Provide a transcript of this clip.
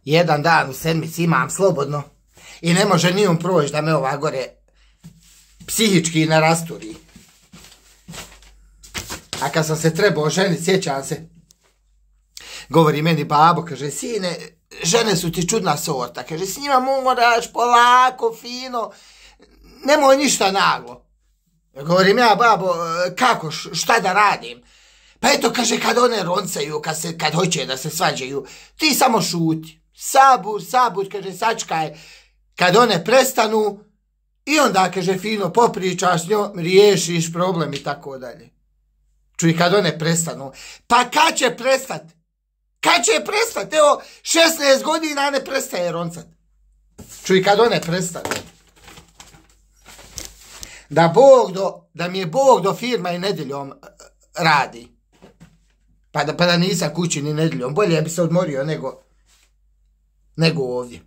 jedan dan u sedmici imam slobodno i ne može ni on proći da me ova gore psihički ne rasturi. A kad sam se trebao ženiti, sjećam se, govori meni babo, kaže, sine, žene su ti čudna sorta, kaže, s njima moraš polako, fino, nemoj ništa naglo. Govorim ja, babo, kako, šta da radim? Pa eto, kaže, kad one roncaju, kad hoće da se svađaju, ti samo šuti. Sabur, kaže, sačkaj, kad one prestanu, i onda, kaže, fino popričaš s njom, riješiš problem i tako dalje. Čuj, kad one prestanu. Pa kad će prestat? Kad će prestat? Evo, 16 godina ne prestaje roncat. Čuj, kad one prestanu. Da mi je Bog do firma i nedjeljom radi. Pa da nisam kući ni nedjeljom. Bolje bi se odmorio nego ovdje.